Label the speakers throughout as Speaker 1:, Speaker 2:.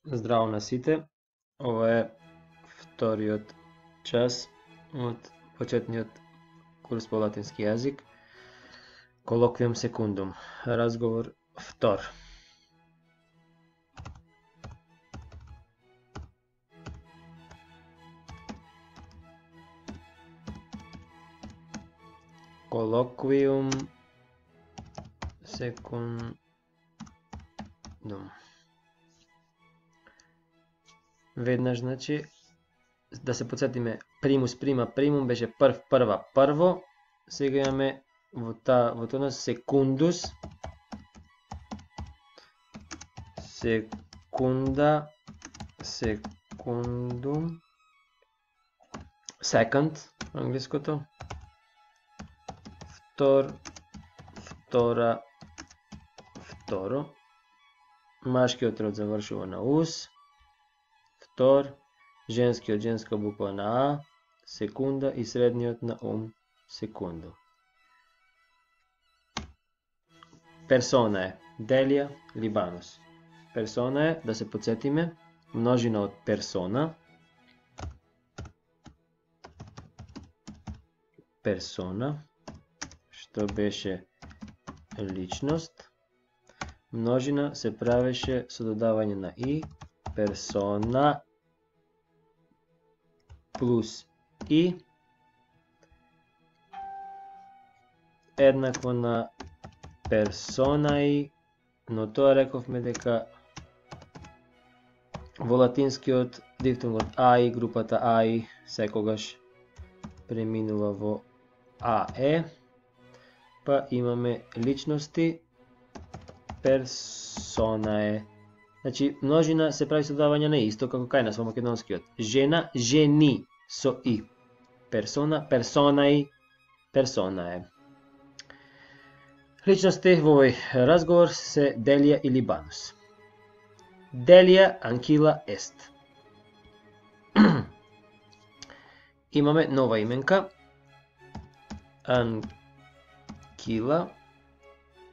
Speaker 1: Здраво на сите. Ова е вториот час од почетниот курс по латински јазик. Колоквиум секундум. Разговор втор. Колоквиум секундум. Веднаш, значи, да се подсетиме, примус, прима, примум беше прв, прва, прво. Сега имаме во тоа секундус, секунда, секундум, second, англиското, втор, втора, второ, машкиот род завршува на ус, втор, женскиот женска буква на А, секунда и средниот на секунду. Персона е Делија Либанус. Персона е, да се подсетиме, множина од персона. Персона, што беше личност. Множина се правеше со додавање на и. Персона плюс и еднакво на персонаи, но тоа рековме дека во латинскиот дифтонгот аи, групата аи, секогаш преминува во ае, па имаме личности, персонае. Значи, множина се прави со додавање на исто како кај нас во македонскиот. Жена, жени со и. Персона, персонаи, персонае. Личности во овој разговор се Делија и Либанус. Делија анкила ест. Имаме нова именка. Анкила.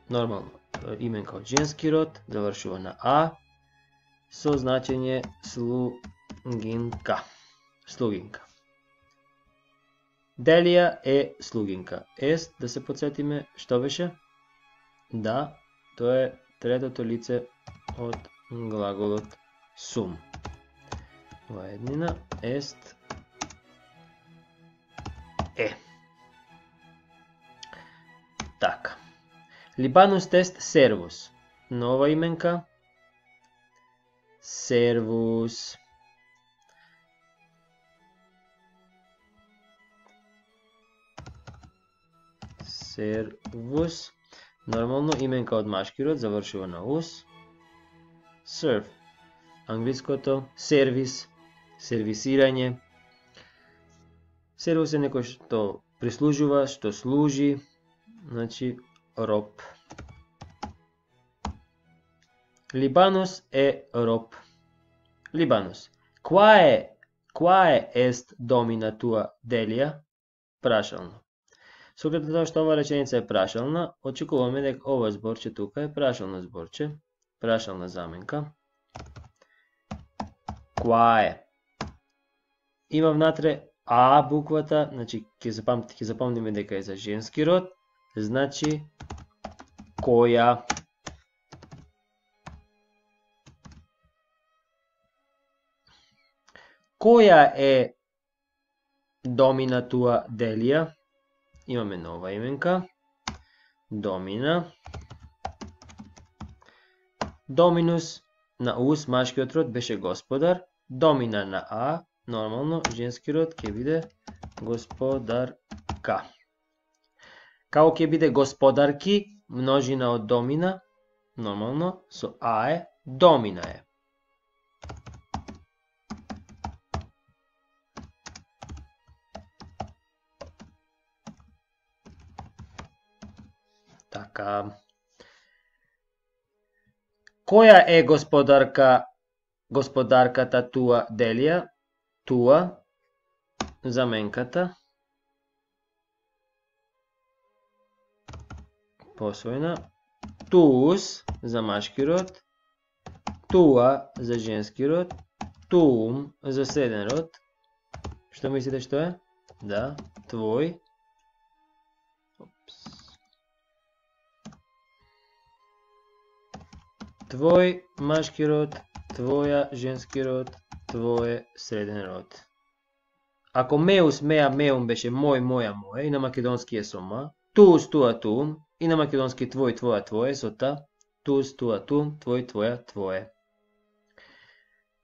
Speaker 1: Нормално именка од женски род, завршува на А, со значење слугинка. Слугинка. Делија е слугинка. Ест, да се подсетиме, што беше? Да, тоа е третото лице од глаголот сум. Во еднина, ест е. Така. Либанус тест сервус. Нова именка. Сервус. Сервус. Нормално именка од машки род завршува на ус. Serve. Англиското сервис, сервисирање. Сервус е некој што прислужува, што служи, значи роб. Либанус е роб. Либанус. Quae est domina tua Delија? Прашално. Со оглед на тоа што ова реченица е прашална, очекуваме дека ова зборче тука е прашално зборче, прашална заменка. Quae. Има внатре А буквата, значи ќе запомниме дека е за женски род, значи која. Која е домина туа Делија? Имаме нова именка. Домина. Доминус на ус, машкиот род беше господар. Домина на А, нормално, женски род ќе биде господарка. Како ќе биде господарки, множина од домина, нормално, со А е, домина е. Така. Која е господарката туа Делија? Туа, заменката. Посвојна. Туус, за машки род. туа за женски род, туум за среден род. Што мислите што е? Да, твој. Твој машки род, твоја женски род, твое среден род. Ако меус, меа, меум беше мој, моја, моје, и на македонски е со ма, туус, туа, туум, и на македонски твој, твоја, твое, со та, туус, туа, туум, твој, твоја, твое.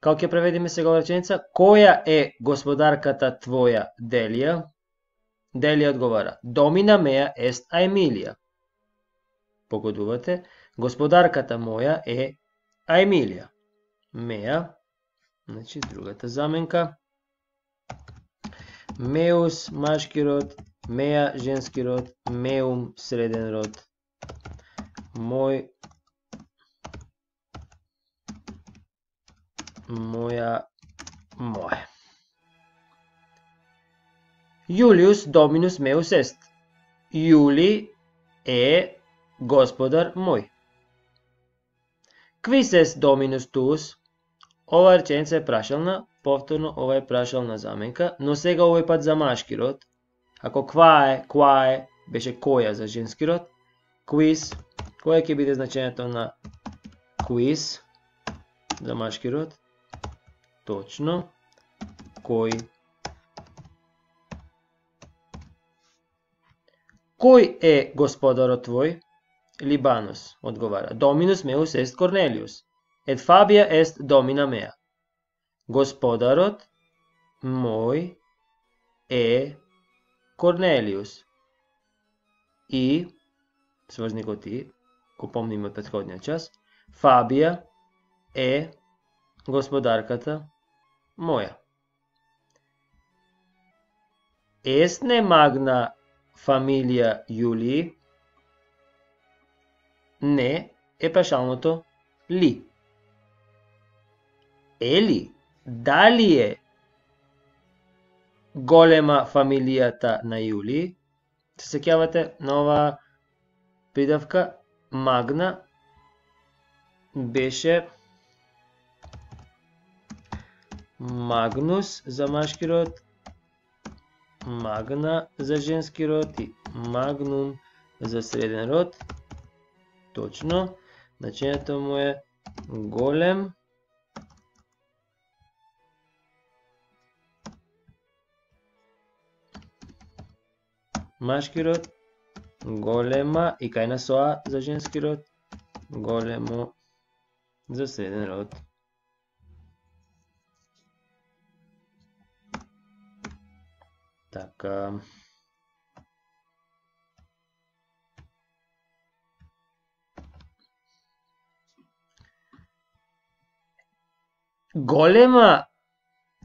Speaker 1: Како ќе преведиме сега ова реченица? Која е господарката твоја, Делија? Делија одговара, домина меа ест Аемилија. Погодувате, господарката моја е Аемилија. Меа, значи другата заменка. Меус, машки род, меа, женски род, меум, среден род. Мој, моја, моје. Јулиус доминус меус ест. Јули е господар мој. Quis est dominus tuus? Ова реченица е прашална, повторно ова е прашална заменка, но сега овој пат за машки род. Ако ква е, беше која за женски род. Quis, која ќе биде значењето на quis за машки род? Точно, кој. Кој е господарот твој? Либанус одговара. Доминус меус ест Корнелиус. Et Fabia est domina mea. Господарот мој е Корнелиус. И, сврзникот и, го помниме од претходниот час, Фабија е господарката моја. Est ne magna familia Јулии? Не е прашалното ли. Ели, дали е голема фамилијата на Јулии? Се сеќавате на ова придавка магна беше магнус за машки род, магна за женски род и магнум за среден род. Точно, значењето му е голем машки род, голема и кај на соа за женски род, големо за среден род. Така. Голема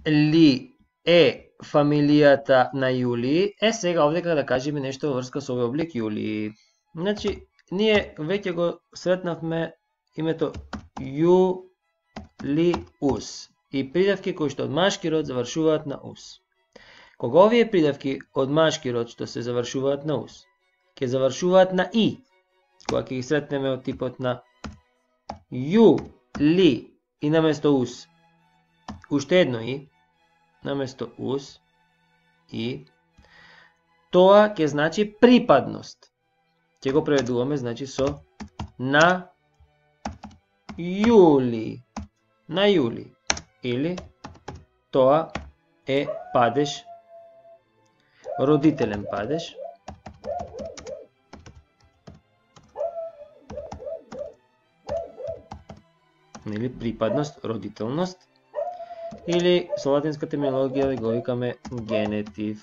Speaker 1: ли е фамилијата на Јулии? Сега овде да кажеме нешто во врска со овој облик Јулии. Значи, ние веќе го сретнавме името Јулиус и придавки кои што од машки род завршуваат на ус. Кога овие придавки од машки род што се завршуваат на ус, ќе завршуваат на и, кога ќе ги сретнеме од типот на Јули и наместо ус, уште едно и, наместо ус, и, тоа ќе значи припадност. Ќе го преведуваме, значи, со на Јули. На Јули. Или, тоа е падеж, родителен падеж. Или припадност, родителност. Или со латинска терминологија го викаме генетив.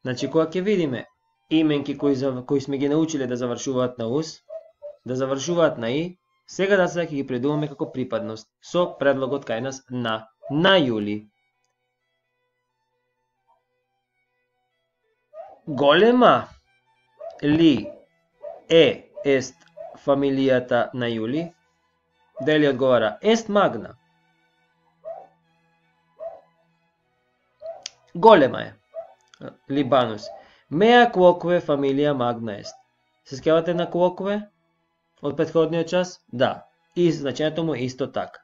Speaker 1: Значи, кога ќе видиме именки кои сме ги научиле да завршуваат на ус, да завршуваат на и, сега да ќе ги предуваме како припадност, со предлогот кај нас на Јули. Голема ли е ест фамилијата на Јули? Дели одговара, ест магна. Голема е. Либанус. Меа quoque фамилија магна ест. Се сеќавате на quoque од претходниот час? Да. И значењето му исто така.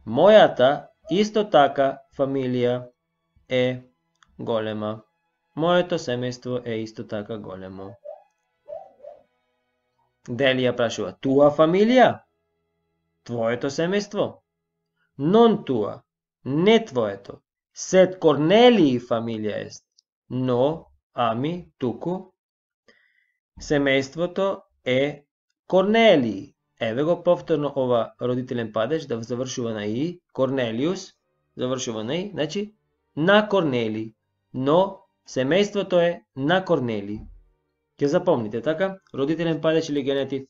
Speaker 1: Мојата исто така фамилија е голема. Моето семејство е исто така големо. Делија прашува, туа фамилија? Твоето семејство? Non туа, не твоето. Сед Корнелии фамилија ест. Но, ами, туку, семејството е Корнелии. Еве го повторно ова родителен падеж да завршува на и. Корнелиус завршува на и, значи на Корнелии. Но семејството е на Корнелии. Ќе запомните, така? Родителен падеж или генетив,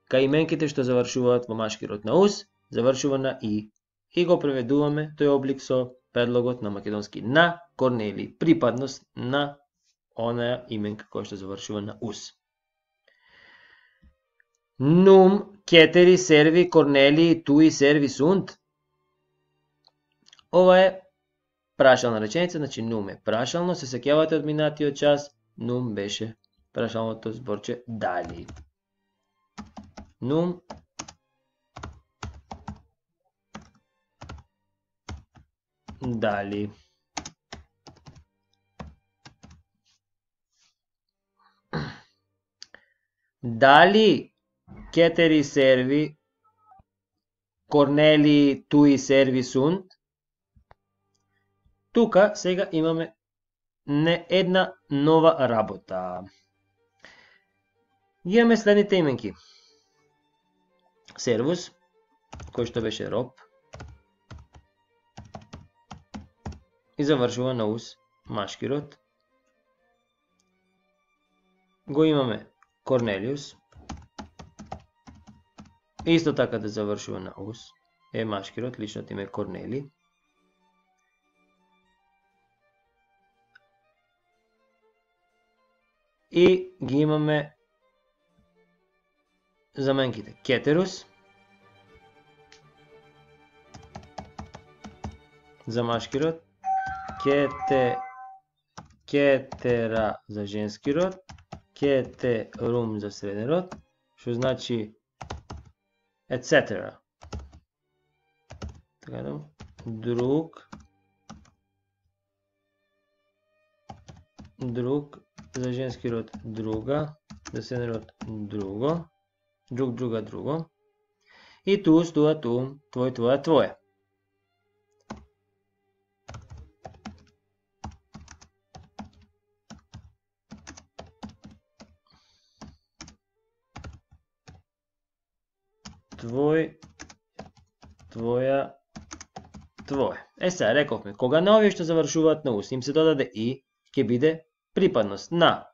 Speaker 1: кај именките што завршуваат во машки род на ус, завршува на и. И го преведуваме тој облик со предлогот на македонски на Корнелии. Припадност на онаја именка која што завршува на ус. Нум кетери серви Корнелии туи серви сунт. Ова е прашална реченица, значи нум е прашално, се сеќавате од минатиот час, нум беше прашалното зборче дали. Нум дали. Дали кетери серви Корнелии туи серви сунт? Тука сега имаме не една нова работа. Имаме следните именки. Сервус, кој што беше роб, и завршува на ус машки род. Го имаме Корнелиус, исто така да завршува на ус, е машки род, личното име Корнели. И ги имаме заменките. Кетерус за машки род, кетера за женски род, кетерум за среден род, што значи etc. Така да, друг за женски род друга, за среден род друго, друга, друго. И туус, туа, туум, твој, твоја, твое. Твој, твоја, твое. Сега рековме, кога на овие што завршуваат на ус им се додаде и, ќе биде припадност на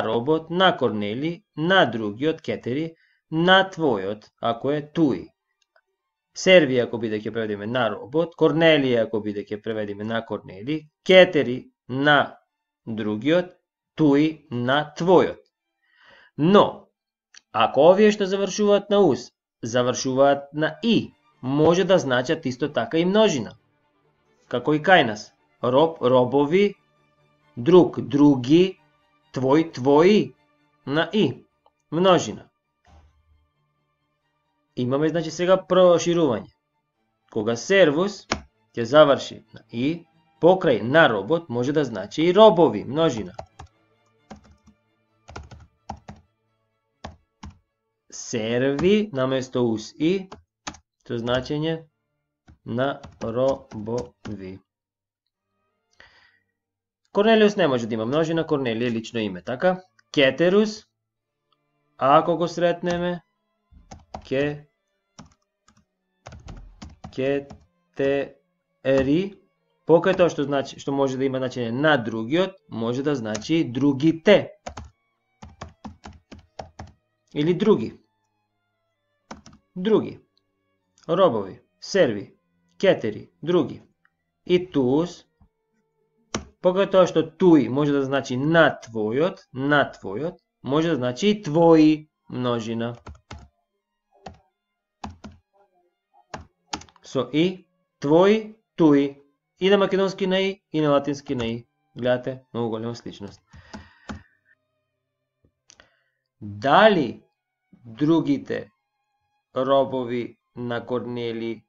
Speaker 1: робот, на Корнели, на другиот кетери, на твојот, ако е туи. Серви ако биде ќе преведиме на робот, Корнелија ако биде ќе преведиме на Корнели, кетери на другиот, туи на твојот. Но, ако овие што завршуваат на ус завршуваат на и, може да значат исто така и множина. Како и кај нас. Роб, робови, друг, други, твој, твои, на и. Множина. Имаме, значи, сега проширување. Кога сервус ќе заврши на и, покрај на робот може да значи и робови, множина. Серви наместо ус и, со значење на робови. Корнелиус не може да има множина, Корнелија е лично име, така? Кетерус, ако го сретнеме, кетери, покрај тоа што значи, што може да има значење на другиот, може да значи другите. Или други. Други. Робови, серви, кетери, други. И туус, покрај тоа што туи може да значи на твојот, може да значи и твои, множина. Со и, твои, туи. И на македонски на и на латински на и. Гледате, многу голема сличност. Дали другите робови на Корнели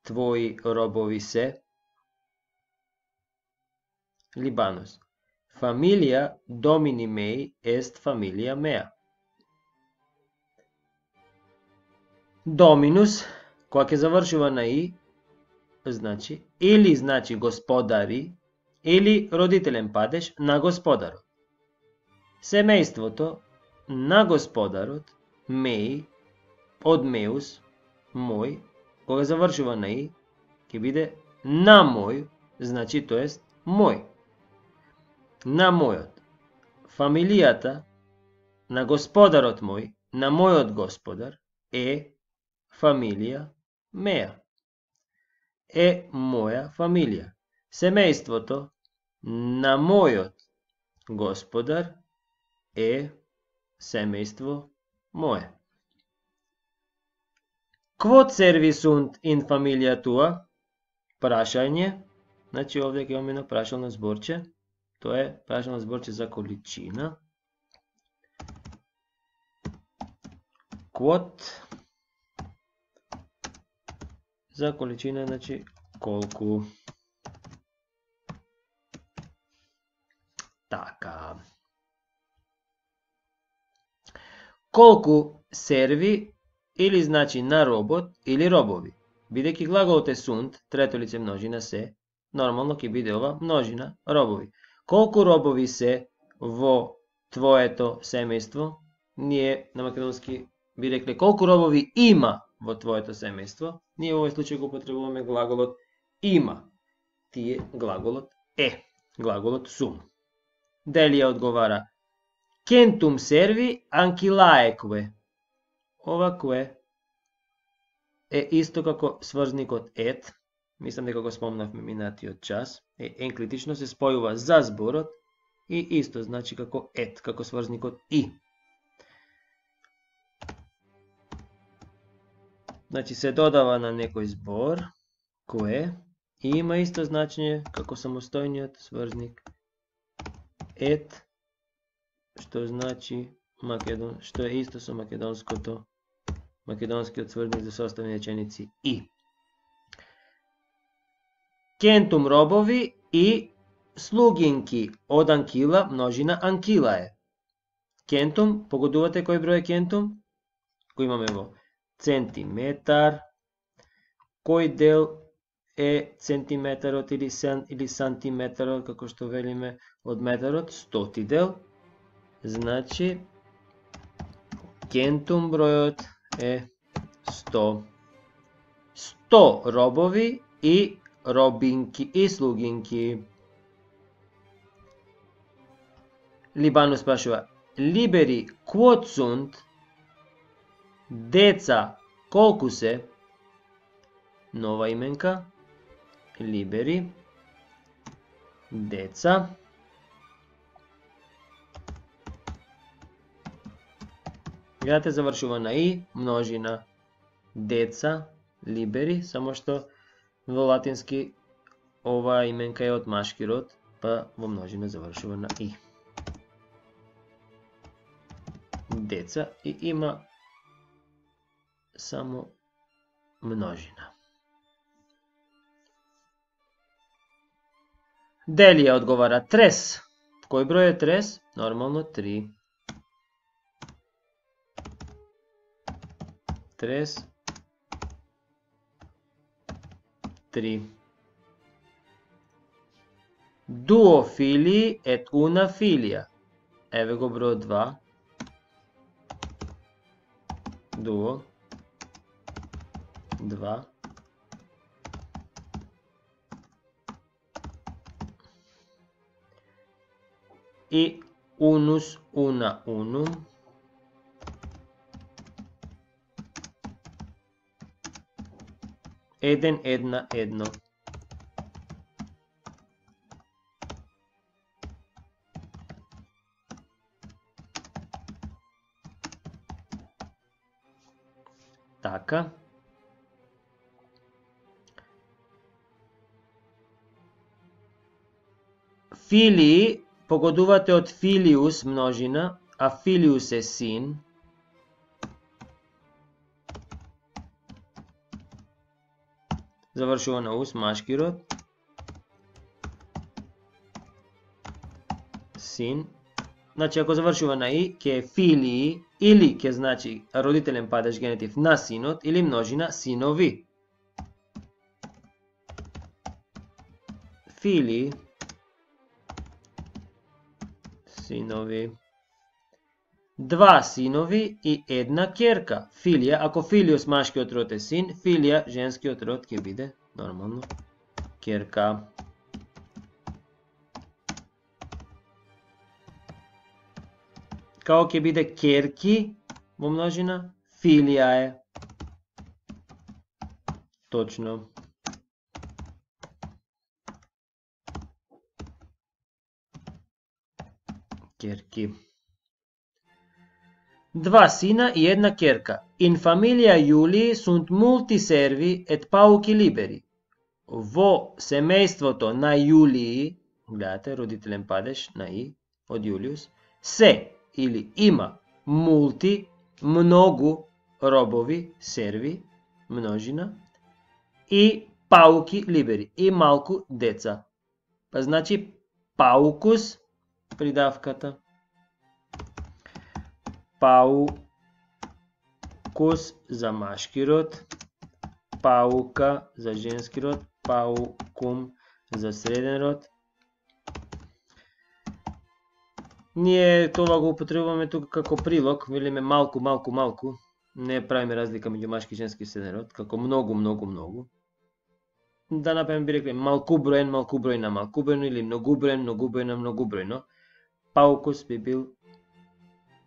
Speaker 1: твои робови се? Либанус. Фамилија домини меи ест фамилија меа. Доминус, кога ќе завршува на и, значи или значи господари, или родителен падеж на господарот. Семејството на господарот, меи, од меус, мој, кога завршува на и, ќе биде на мој, значи тоест мој. На мојот. Фамилијата на господарот мој, на мојот господар, е фамилија меа. Е моја фамилија. Семејството на мојот господар е семејство мое. Quod servisunt in familia tua? Прашање. Значи овде ќе имаме едно прашално зборче. Тоа е прашално зборче за количина. Quod за количина, значи колку. Така. Колку серви или значи на робот или робови. Бидејќи глаголот е sunt, трето лице множина се, нормално ќе биде ова множина робови. Колку робови се во твоето семејство? Ние на македонски би рекле колку робови има во твоето семејство. Ние во овој случај го употребуваме глаголот има. Тие глаголот е. Глаголот sum. Делија одговара Centum servi anchilaeque. Ова кое е исто како сврзникот et. Мислам дека го спомнавме минатиот час. Енклитично се спојува за зборот и исто значи како et, како сврзникот и. Значи се додава на некој збор кое и има исто значење како самостојниот сврзник et, што значи што е исто со македонскиот сврзник за составни реченици и. Centum робови и слугинки од анкила, множина анкила е. Centum, погодувате кој број е centum? Кој имаме во центиметар. Кој дел е центиметарот или сантиметарот, како што велиме од метарот? 100 дел. Значи, centum бројот е 100. 100 робови и робинки и слугинки. Либанус спрашува, Liberi quod sunt? Деца колку се? Нова именка. Liberi. Деца. Гледате, завршува на и, множина. Деца, liberi, само што во латински ова именка е од машки род, па во множина завршува на и. Деца и има само множина. Делија одговара трес. Кој број е трес? Нормално 3. Трес 3. Duo filii et una filia. Еве го бројот 2. Duo 2. И unus una unum. Еден една едно. Така. Филии, погодувате од филиус множина, а филиус е син, завршува на ус, машки род, син. Значи, ако завршува на и, ќе е филии, или ќе значи родителен падеж генетив на синот, или множина синови. Филии, синови. Два синови и една керка. Филија, ако филиус машкиот род е син, филија женскиот род ќе биде нормално керка. Као ќе биде керки во множина, филија е. Точно. Керки. Два сина и една керка. In familia Julii sunt multi servi et pauci liberi. Во семејството на Јулии, гледате, родителен падеж на и, од Јулиус, се или има мулти, многу робови, серви, множина, и пауки либери, и малку деца. Па значи паукус, придавката, паукус за машки род, паука за женски род, паукум за среден род. Ние това го употребуваме тука како прилог, велиме малку, малку, малку. Не правиме разлика меѓу машки и женски среден род, како многу, многу, многу. Да например би рекли малкуброен, малкубројна, малкубројно, или многуброен, многубројна, многубројно. Паукус би бил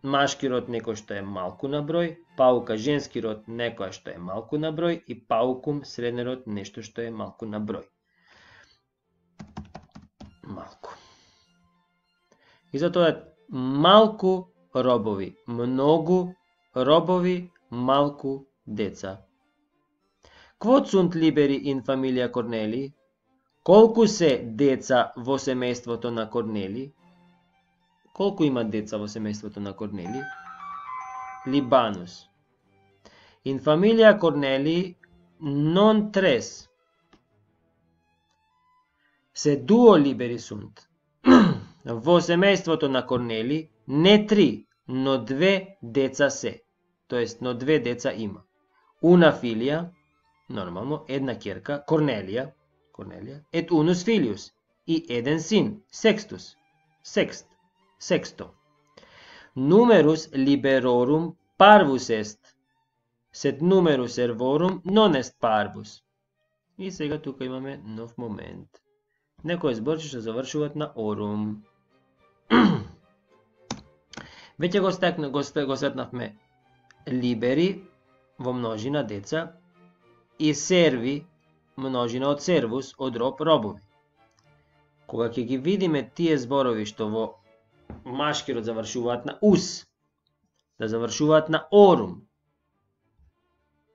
Speaker 1: машки род некој што е малку на број, паука женски род некоја што е малку на број и паукум среден род нешто што е малку на број. Малку. И затоа е малку робови, многу робови, малку деца. Quod sunt liberi in familia Corneli? Колку се деца во семејството на Корнели? Колку има деца во семејството на Корнели? Libanus. In familia Corneli non tres. Se duo liberi sunt. Во семејството на Корнели не три, но две деца се. Тоест, но две деца има. Una filia, нормално, една керка, Корнелија, et unus filius, и еден син, Sextus, sexto. Numerus liberorum parvus est, sed numerus servorum non est parvus. И сега тука имаме нов момент. Некои зборчи што завршуваат на орум. Веќе го сретнавме либери во множина деца и серви множина од сервус, од роб, робови. Кога ќе ги видиме тие зборови што во машки род завршуваат на ус, да завршуваат на орум,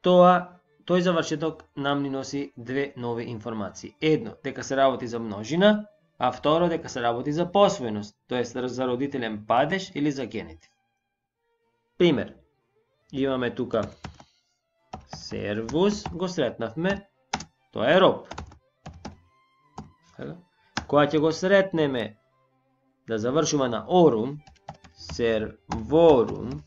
Speaker 1: тој завршеток нам ни носи две нови информации. Едно, дека се работи за множина, а второ, дека се работи за посвојност, тоест за родителен падеж или за генетив. Пример, имаме тука сервус, го сретнавме, тоа е роб. Кога ќе го сретнеме да завршува на орум, серворум,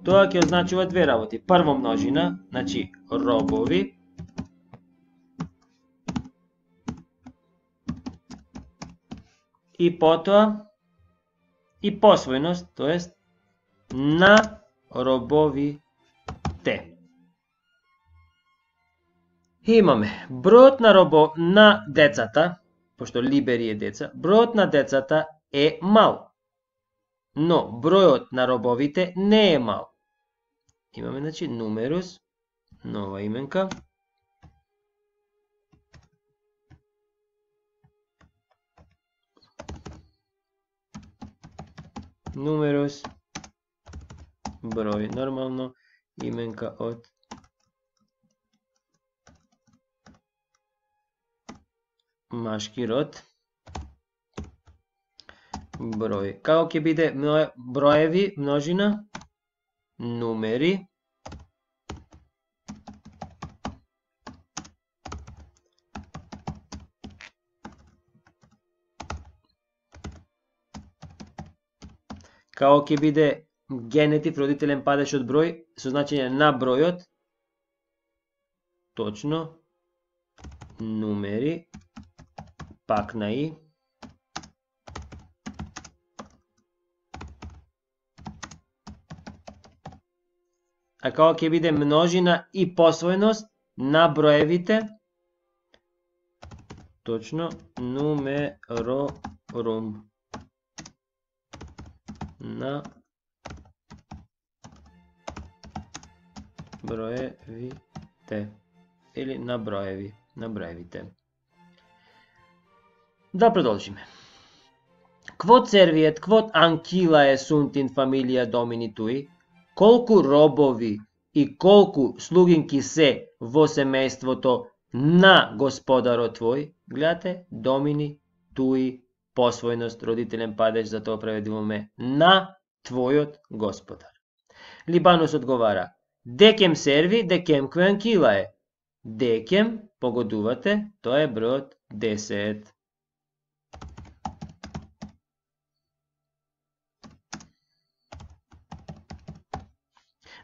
Speaker 1: тоа ќе означува две работи. Прво множина, значи робови, и потоа и посвојност, тоест на робовите. Имаме бројот на децата, пошто либери е деца, бројот на децата е мал, но бројот на робовите не е мал. Имаме, значи, нумерус, нова именка, нумерус, број, нормално, именка од машки род. Број. Како ќе биде броеви, множина? Нумери. Како ќе биде генетив, родителен падеж од број, со значење на бројот? Точно. Нумери. Пак на и. А како ќе биде множина и посвоеност на броевите? Точно. Нумерорум. На броевите. Или на броевите. Да продолжиме. Quod serviet, quod ancillae sunt in familia domini tui? Колку робови и колку слугинки се во семејството на господарот твој? Гледате, домини туи, посвоеност, родителен падеж, за тоа преведуваме на твојот господар. Либанус одговара: Декем серви, декемque ancillae. Декем, погодувате, тоа е бројот 10.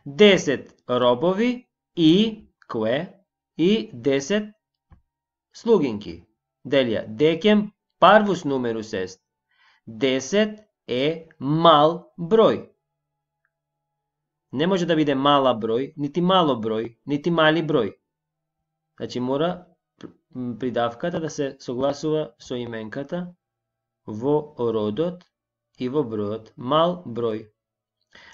Speaker 1: Десет робови и кое? И 10 слугинки. Делија, декем парвус нумерус ест. 10 е мал број. Не може да биде мала број, нити мало број, нити мали број. Значи мора придавката да се согласува со именката во родот и во бројот. Мал број.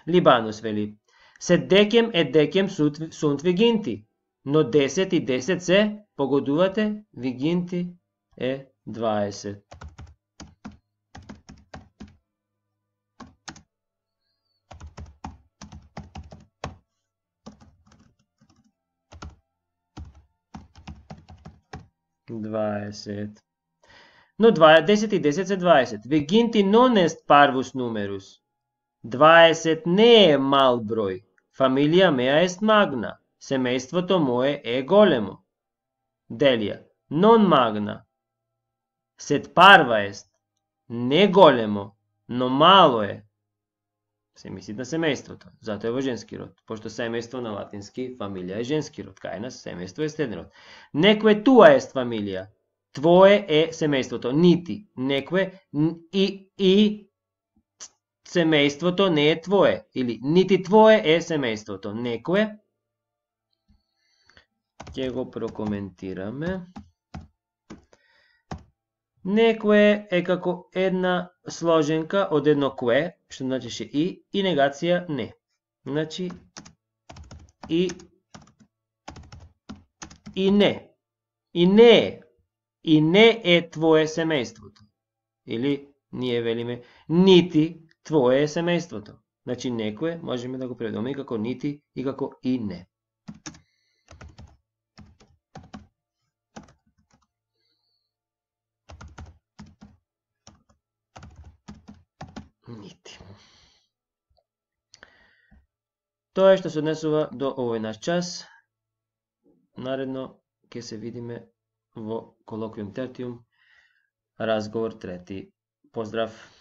Speaker 1: Либанус вели: Сед декем е декем sunt viginti, но 10 и 10 се, погодувате, viginti е 20. Но 10 и 10 се 20. Viginti non est parvus numerus. 20 не е мал број. Фамилија меа ест магна. Семејството мое е големо. Делија, non magna. Сед парва ест. Не големо, но мало е. Се мисли на семејството. Зато е во женски род. Пошто семејство на латински фамилија е женски род. Кај нас семејство е стеден род. Некве туа ест фамилија. Твое е семејството. Нити. Некве и семејството не е твое, или нити твое е семејството. Некое, ќе го прокоментираме. Некое е како една сложенка од едно кое, што значише и негација не. Значи, и не. И не е. И не е твое семејството. Или ние велиме нити твое е семејството. Значи некое можеме да го преведеме и како нити и како и не. Нити. Тоа е што се однесува до овој наш час. Наредно ќе се видиме во колоквиум тертиум, разговор трети. Поздрав!